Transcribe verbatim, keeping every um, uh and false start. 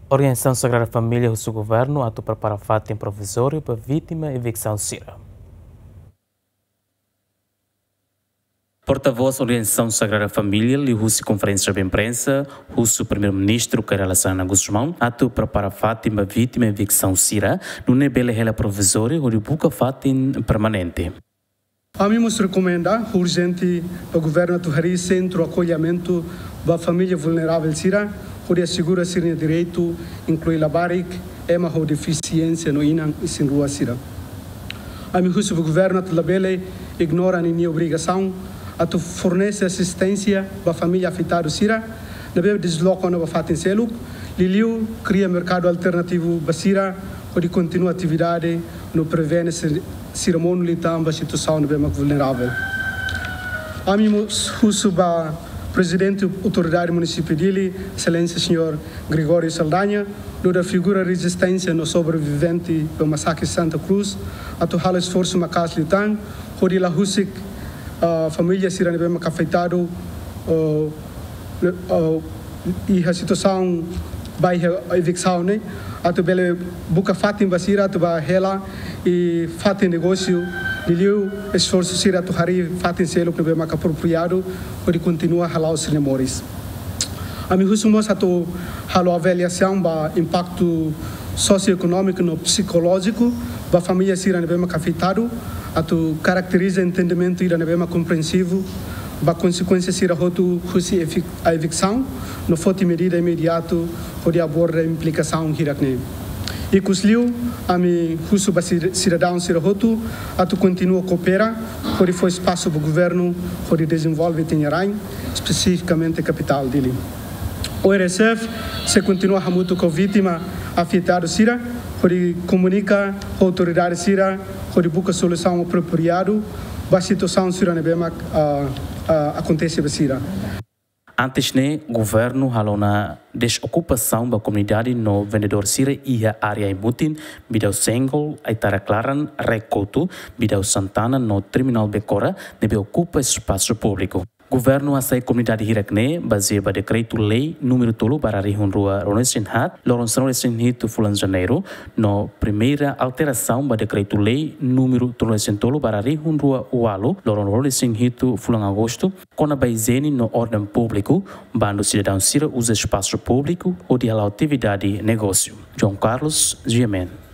Organizasaun Sagrada Família husu governu atu prepara fatin provizóriu ba vítima eviksaun sira. Portavós Organizasaun Sagrada Família liuhusi konferénsia ba imprensa husu Primeiru-Ministru Kay Rala Xanana Gusmão atu prepara fatin ba vítima eviksaun sira, nune'e bele hela provizóriu hodi buka fatin permanente. Ami mós rekomenda urjente ba governu atu harii sentru akollimentu ba família vulneravel sira, hodi asegura sira-nia direitu, inklui labarik, ema ho defisiénsia no inan isin-rua sira. Ami husu ba governu atu labele ignora ninia obrigasaun atu fornese asisténsia ba família afetadu sira ne'ebé desloka ona ba fatin seluk, liuliu kria merkadu alternativu ba sira, hodi kontinua atividade no prevene sira, sira monu liután ba situasaun ne'ebé mak vulneravel. Ami mós husu ba Prezidente Autoridade Munisípiu Dili, Exelénsia Señór Gregório Saldanha, nu'udar figura rezisténsia no sobrevivente ba masakre Santa Cruz, atu halo esforsu maka'as liután, hodi la husik, ah, família sira ne'ebé mak afetadu, oh, ne-, oh, iha situasaun ba iha eviksaun ne'e, atu bele buka fatin ba sira atu ba hela, i fatin negósiu, liuliu esforsu sira atu harii fatin seluk ne'ebé mak apropriadu, hodi kontinua hala'o sira-nia moris. Ami husu mós atu halo avaliasaun ba impaktu sosioekonómiku no psikolójiku ba família sira ne'ebé mak afetadu, atu karakteriza entendimentu ida ne'ebé mak komprensivu ba konsekuénsia sira hotu husi evi-, eviksaun, no foti medida imediatu hodi aborda implikasaun hirak-ne'e. Ikusliu, ami husu ba sir-, sidadaun sira hotu atu kontinua koopera, hodi fó espasu ba governu hodi dezenvolve ita-nia rain, espesifikamente kapitál Dili. ORSF sei kontinua hamutuk ho vítima afetadu sira, hodi komunika ho autoridade sira, hodi buka solusaun apropriadu ba situasaun sira ne'ebé mak, ah, ah, akontese ba sira. Antes ne'e, governu halo ona desokupasaun ba komunidade no vendedór sira iha área ai-mutin, Bidau Senggol, Aitarak Laran, Rek Kotu, Bidau Santana no Terminál Becora, ne'ebé okupa espasu públiku. Governu hasai komunidade hirak-ne'e bazeia ba Dekretu-Lei númeru tolu barra rihun rua ruanulu-resin-haat, loron sanulu-resin-hitu fulan Janeiru, no primeira alterasaun ba Dekretu-Lei númeru tolunulu-resin-tolu barra rihun rua ualu, loron ruanulu-resin-hitu fulan Agostu, kona-ba ijiene no orden públiku, bandu sidadaun sira uza espasu públiku hodi hala'o atividade negósiu. João Carlos, G M N.